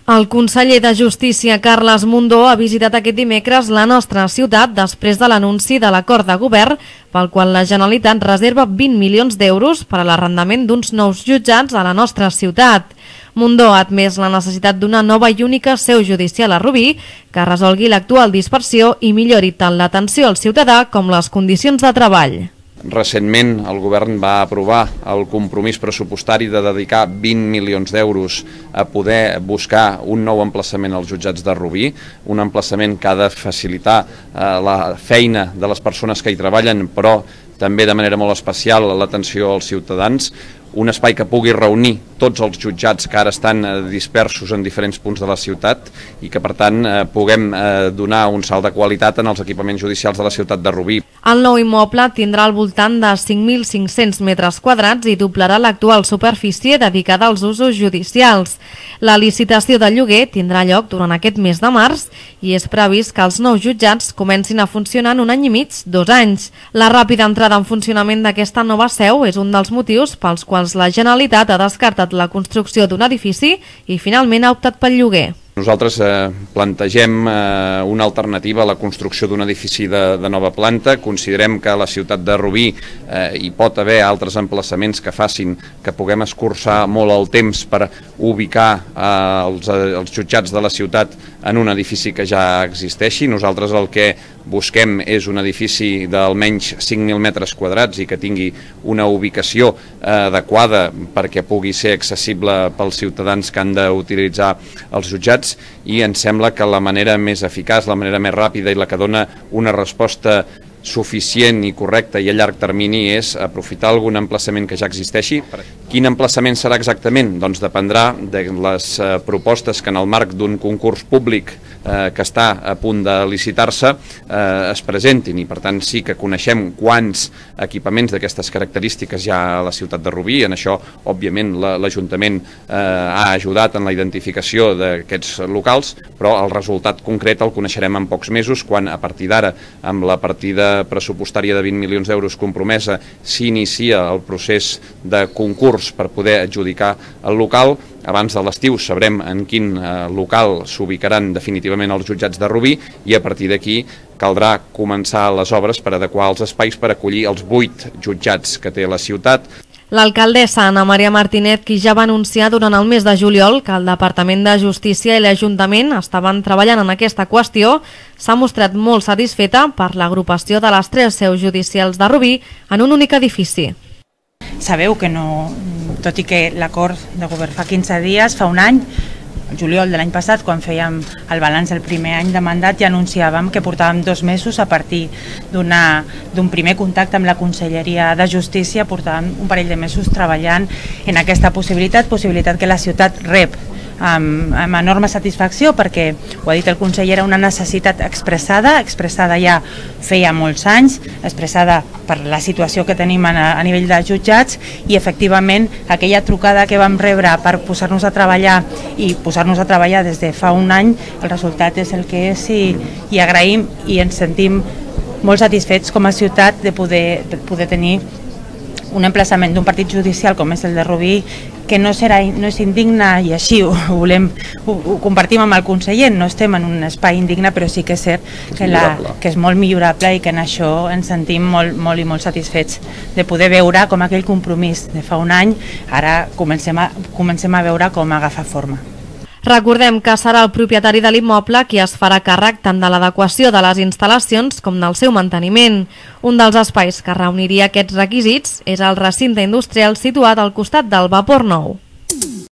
El conseller de Justícia, Carles Mundó, ha visitat aquest dimecres la nostra ciutat després de l'anunci de l'acord de govern pel qual la Generalitat reserva 20 milions d'euros per a l'arrendament d'uns nous jutjats a la nostra ciutat. Mundó ha admès la necessitat d'una nova i única seu judicial a Rubí que resolgui l'actual dispersió i millori tant l'atenció al ciutadà com les condicions de treball. Recentment el govern va aprovar el compromís pressupostari de dedicar 20 milions d'euros a poder buscar un nou emplaçament als jutjats de Rubí, un emplaçament que ha de facilitar la feina de les persones que hi treballen, però també de manera molt especial l'atenció als ciutadans, un espai que pugui reunir tots els jutjats que ara estan dispersos en diferents punts de la ciutat i que per tant puguem donar un salt de qualitat en els equipaments judicials de la ciutat de Rubí. El nou immoble tindrà al voltant de 5.500 metres quadrats i doblarà l'actual superfície dedicada als usos judicials. La licitació de lloguer tindrà lloc durant aquest mes de març i és previst que els nous jutjats comencin a funcionar en 1 any i mig, 2 anys. La ràpida entrada en funcionament d'aquesta nova seu és un dels motius pels quals la Generalitat ha descartat la construcció d'un edifici i finalment ha optat pel lloguer. Nosaltres plantegem una alternativa a la construcció d'un edifici de nova planta. Considerem que a la ciutat de Rubí hi pot haver altres emplaçaments que facin que puguem escurçar molt el temps per ubicar els jutjats de la ciutat en un edifici que ja existeixi. Nosaltres el que busquem és un edifici d'almenys 5.000 metres quadrats i que tingui una ubicació adequada perquè pugui ser accessible pels ciutadans que han d'utilitzar els jutjats, i ens sembla que la manera més eficaç, la manera més ràpida i la que dona una resposta suficient i correcta i a llarg termini és aprofitar algun emplaçament que ja existeixi. Quin emplaçament serà exactament? Doncs dependrà de les propostes que en el marc d'un concurs públic que està a punt de licitar-se es presentin, i per tant sí que coneixem quants equipaments d'aquestes característiques hi ha a la ciutat de Rubí. En això, òbviament, l'Ajuntament ha ajudat en la identificació d'aquests locals, però el resultat concret el coneixerem en pocs mesos, quan a partir d'ara, amb la partida pressupostària de 20 milions d'euros compromesa, s'inicia el procés de concurs per poder adjudicar el local. Abans de l'estiu sabrem en quin local s'ubicaran definitivament els jutjats de Rubí i a partir d'aquí caldrà començar les obres per adequar els espais per acollir els 8 jutjats que té la ciutat. L'alcaldessa Ana Maria Martínez, qui ja va anunciar durant el mes de juliol que el Departament de Justícia i l'Ajuntament estaven treballant en aquesta qüestió, s'ha mostrat molt satisfeta per l'agrupació de les 3 seus judicials de Rubí en un únic edifici. Sabeu que no, tot i que l'acord de govern fa 15 dies, fa un any, el juliol de l'any passat, quan fèiem el balanç del primer any de mandat, ja anunciàvem que portàvem 2 mesos a partir d'un primer contacte amb la Conselleria de Justícia, portàvem un parell de mesos treballant en aquesta possibilitat que la ciutat rep amb enorme satisfacció, perquè, ho ha dit el conseller, era una necessitat expressada ja feia molts anys, expressada per la situació que tenim a nivell de jutjats, i efectivament aquella trucada que vam rebre per posar-nos a treballar des de fa un any, el resultat és el que és, i agraïm i ens sentim molt satisfets com a ciutat de poder tenir un emplaçament d'un partit judicial com és el de Rubí, que no és indigne, i així ho compartim amb el conseller. No estem en un espai indigne, però sí que és cert que és molt millorable i que en això ens sentim molt i molt satisfets de poder veure com aquell compromís de fa un any ara comencem a veure com agafa forma. Recordem que serà el propietari de l'immoble qui es farà càrrec tant de l'adequació de les instal·lacions com del seu manteniment. Un dels espais que reuniria aquests requisits és el recinte industrial situat al costat del Vapor Nou.